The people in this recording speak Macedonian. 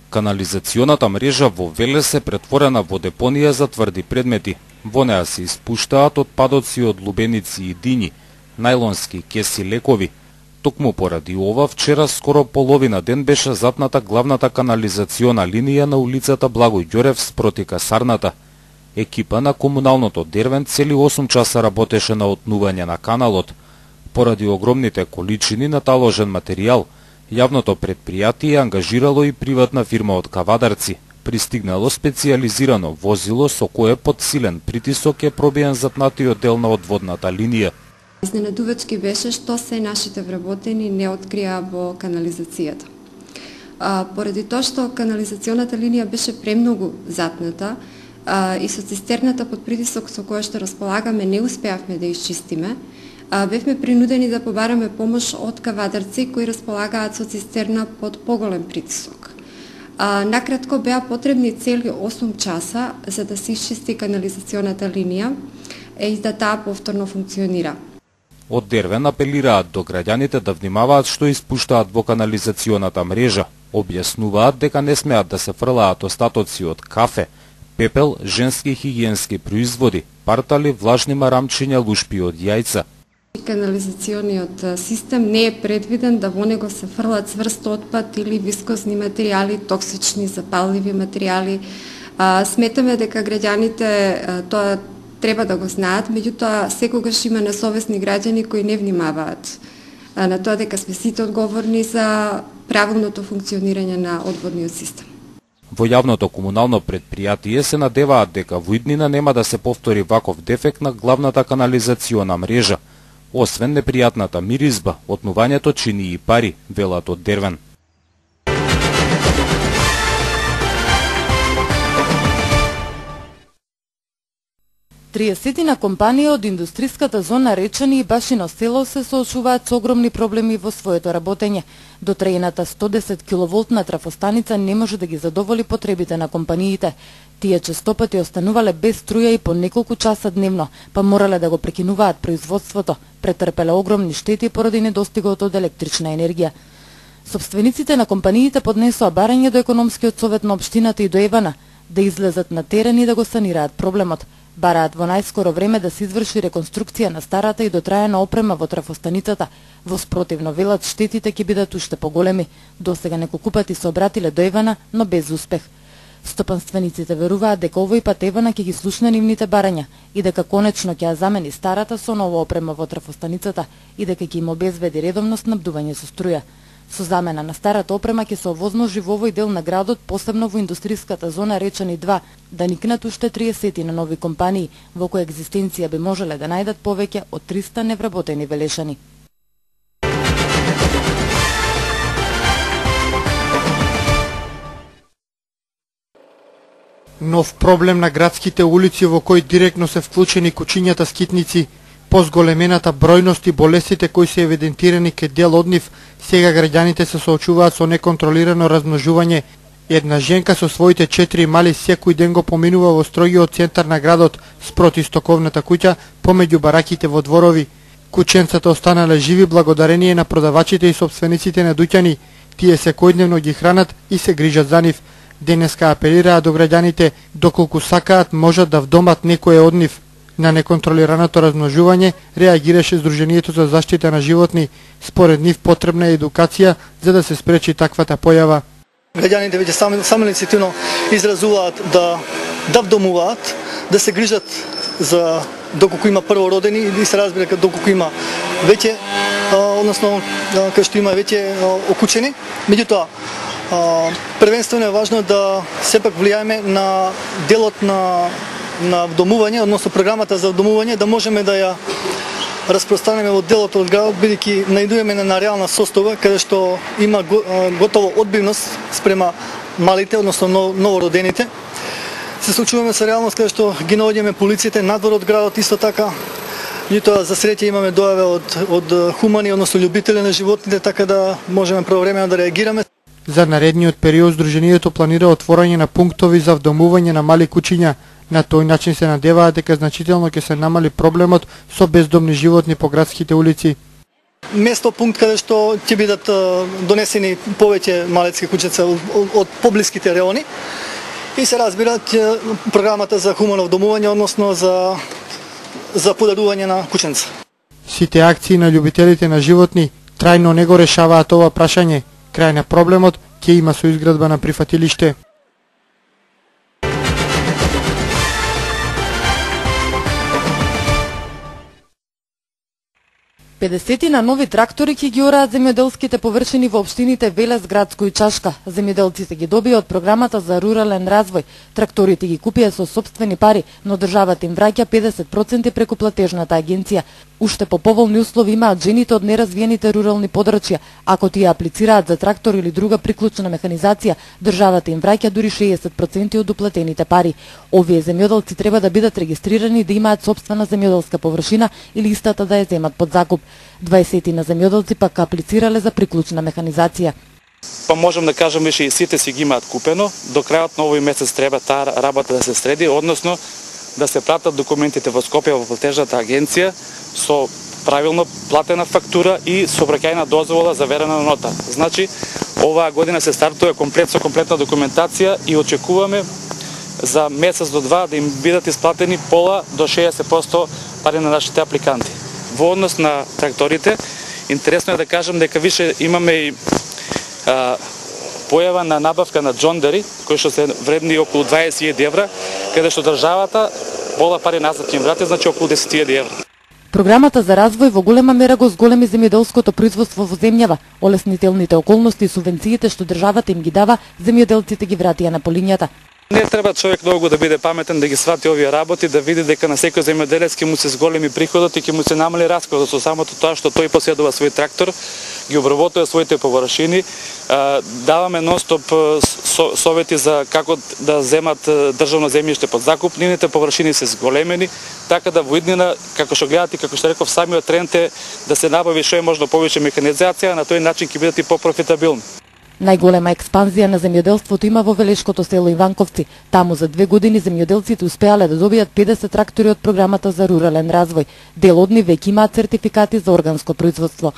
Канализационата мрежа во Велес е претворена во депонија за тврди предмети. Во неа се испуштаат отпадоци од лубеници и дини, најлонски кеси лекови. Токму поради ова, вчера скоро половина ден беше запната главната канализациона линија на улицата Благој Ѓорев спроти касарната. Екипа на комуналното Дервен цели 8 часа работеше на отнување на каналот. Поради огромните количини наталожен материјал, јавното претпријатие ангажирало и приватна фирма од Кавадарци. Пристигнало специјализирано возило со кое под силен притисок е пробиен запнатиот дел на одводната линија. Изненадувачки беше што се нашите вработени не открија во канализацијата. Поради тоа што канализационата линија беше премногу запната и со цистерната под притисок со која што располагаме не успеавме да исчистиме, бевме принудени да побараме помош од Кавадарци кои располагаат со цистерна под поголем притисок. Накратко беа потребни цели 8 часа за да се исчисти канализационата линија и да таа повторно функционира. Од Дервен апелираат до граѓаните да внимаваат што испуштаат во канализационата мрежа. Објаснуваат дека не смеат да се фрлаат остатоци од кафе, пепел, женски хигиенски производи, партали, влажни марамчиња, лушпи од јајца. Канализациониот систем не е предвиден да во него се фрлат цврст отпад или вискозни материјали, токсични, запалливи материјали. Сметаме дека граѓаните тоа треба да го знаат, меѓутоа секогаш има несовесни граѓани кои не внимаваат на тоа дека сме сите одговорни за правилното функционирање на одводниот систем. Во јавното комунално претпријатие се надеваат дека во иднина нема да се повтори ваков дефект на главната канализациона мрежа. Освен непријатната миризба, отнувањето чини и пари, велат од Дервен. Триесетина компании од индустриската зона Речани и Башино село се соочуваат со огромни проблеми во своето работење. Дотрејната 110 киловолтна трафостаница не може да ги задоволи потребите на компаниите. Тие честопати останувале без струја и по неколку часа дневно, па морале да го прекинуваат производството, претрпеле огромни штети поради недостигот од електрична енергија. Сопствениците на компаниите поднесоа барање до економскиот совет на општината и до ЕВН да излезат на терен и да го санираат проблемот. Бараат во најскоро време да се изврши реконструкција на старата и дотраена опрема во трафостаницата. Во спротивно велат штетите ќе бидат уште поголеми. Досега неколку пати се обратиле до ЕВН, но без успех. Стопанствениците веруваат дека овој пат ЕВН ќе ги слушне нивните барања и дека конечно ќе ја замени старата со нова опрема во трафостаницата и дека ќе им обезбеди редовно снабдување со струја. Со замена на старата опрема ќе се овозможи во овој дел на градот, посебно во индустриската зона Речани 2, да никнат уште 30 на нови компании, во која екзистенција би можеле да најдат повеќе од 300 невработени велешани. Нов проблем на градските улици во кој директно се вклучени кучињата скитници. По зголемената бројност и болестите кои се евидентирани кај дел од нив, сега граѓаните се соочуваат со неконтролирано размножување. Една женка со своите 4 мали секој ден го поминува во строгиот центар на градот спроти стоковната куќа помеѓу бараките во дворови. Кученцата останале живи благодарение на продавачите и сопствениците на дуќани. Тие секојдневно ги хранат и се грижат за нив. Денеска апелираат до граѓаните доколку сакаат можат да вдомат некое од нив. На неконтролираното размножување реагираше Сдруженијето за заштита на животни. Според нив потребна е едукација за да се спречи таквата појава. Граѓаните веќе самоиницијативно изразуваат да вдомуваат, да се грижат за доколку има првородени и се разбира доколку има веќе, односно кај што има веќе окучени. Меѓутоа, првенствено е важно да сепак влијаеме на делот на вдомување, односно програмата за вдомување, да можеме да ја распространеме во делот од градот, бидејќи најдуваме на реална состојба каде што има готово одбивност спрема малите, односно новородените. Се случуваме со реалност каде што ги наоѓаме полициите надвор од градот исто така. Меѓутоа за среќа имаме дојава од хумани, односно љубители на животните, така да можеме правовремено да реагираме. За наредниот период Сдруженијето планира отворање на пунктови за вдомување на мали кучиња. На тој начин се надеваат дека значително ќе се намали проблемот со бездомни животни по градските улици. Место пункт каде што ќе бидат донесени повеќе малецки куќица од поблиските реони и се разбира програмата за хумано вдомување, односно за подарување на кученца. Сите акции на љубителите на животни трајно не го решаваат ова прашање. Крај на проблемот ќе има со изградба на прифатилиште. 50 на нови трактори ќе ги ораат земјоделските површини во општините Велес, Градско и Чашка. Земјоделците ги добија од програмата за рурален развој. Тракторите ги купија со сопствени пари, но државата им враќа 50% преку платежната агенција. Уште по поволни услови имаат жените од неразвиените рурални подрачја. Ако тие аплицираат за трактор или друга приклучна механизација, државата им враќа дури 60% од уплатените пари. Овие земјоделци треба да бидат регистрирани да имаат сопствена земјоделска површина или истата да ја земат под закуп. 20 на земјоделци пак аплицирале за приклучна механизација. Па можам да кажам више и сите си ги имаат купено. До крајот на овој месец треба таа работа да се среди, односно да се пратат документите во Скопје во платежната агенција со правилно платена фактура и сообраќајна дозвола заверена на нота. Значи, оваа година се стартува со комплетна документација и очекуваме за месец до два да им бидат исплатени пола до 60% пари на нашите апликанти. Во однос на тракторите, интересно е да кажам дека више имаме и појава на набавка на джондари, кои што се вредни околу 20.000 евра, каде што државата пола пари назад ќе им врати, значи околу 10.000 евра. Програмата за развој во голема мера го зголеми земјоделското производство во земјава. Олеснителните околности и субвенциите што државата им ги дава, земјоделците ги вратија на полињата. Не треба човек многу да биде паметен да ги свати овие работи, да види дека на секој земјоделец ќе му се зголеми приходот и ќе му се намали расходот со самото тоа што тој поседува свој трактор, ги обработува своите површини. Даваме нонстоп совети за како да земат државно земјиште под закуп. Нивните површини се зголемени, така да во иднина, како што гледате, како што реков, самиот тренд е да се набави што е можно повеќе механизација, на тој начин ќе бидат и попрофитабилни. Најголема експанзија на земјоделството има во Велешкото село Иванковци. Таму за 2 години земјоделците успеале да добијат 50 трактори од програмата за рурален развој. Дел од нив веќе имаат сертификати за органско производство.